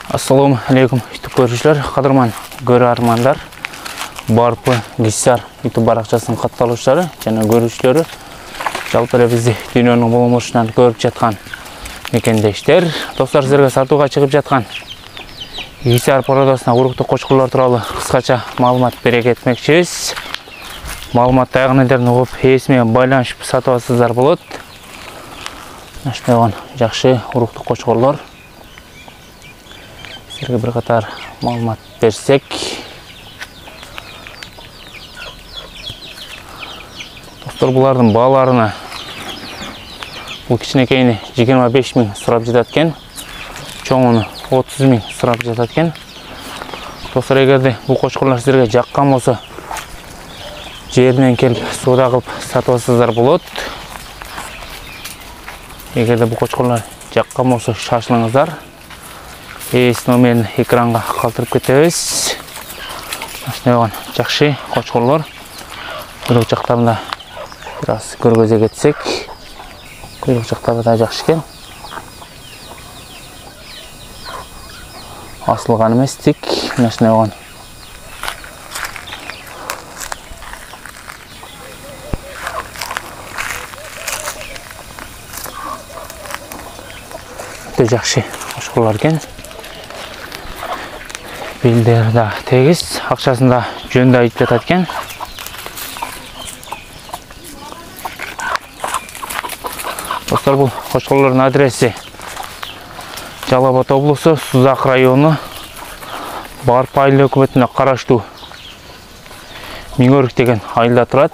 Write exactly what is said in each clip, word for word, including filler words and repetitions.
Assalamu alaikum YouTube көрүүчүлөр, кадырман көрүү армандар, барпы гисар YouTube баракчасынын катталуучулары жана көрүүчүлөрү, жалпы эле бизди дүйнөнүн болмошунан көрүп жаткан мекендештер, достор, силерге сатууга чыгып жаткан гисар породасына уруктук кочкурлар тууралуу кыскача маалымат бере кетмекчибиз. Маалыматты аягына чейин угуп, ээси менен байланышып сатып алсаңыздар болот. Ошондой жакшы уруктук кочкурлар. Силерге bir катар маалымат берсек, достор, булардын бааларына бул кичинекейини жыйырма беш миң сурап жатат экен, чоңуну отуз миң сурап жатат экен. Достор, эгерде бул кочкурлар силерге жаккан болсо, жеринен келип сууда кылып сатып алсаңыздар болот. Эгерде бул кочкурлар жаккан болсо, шашылыңыздар. Ээс номерин экранга калтырып кетебиз. Ошондой жакшы кочкурлар. Куйрук жактарында бир аз көргөзө кетсек, куйрук жактары да жакшы экен. Асылган эмес, тик ошондой өтө жакшы кочкурлар экен. Билдер да тегиз, акчасын да жөнүндө айтып жатат экен. Достор, бул кочкурлардын адреси Жалал Абад облусу, Сузак району, Барпы айыл өкмөтүнө караштуу Миңөрүк деген айылда турат.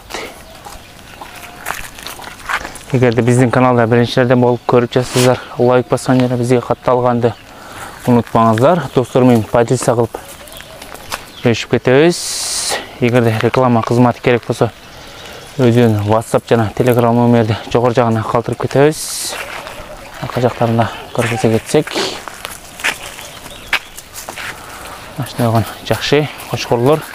Эгерде биздин каналда биринчилерден болуп көрүп жатсаңыздар, лайк баскан жана бизге катталганды унутпаңыздар. Достор менен подписка кылып бөлүшүп кетебиз. Эгерде реклама кызматы керек болсо, өзүнүн WhatsApp жана Telegram номерди жогору жагына калтырып кетебиз. Арка жактарында көргөзө кетсек, ошондой жакшы кочкурлар.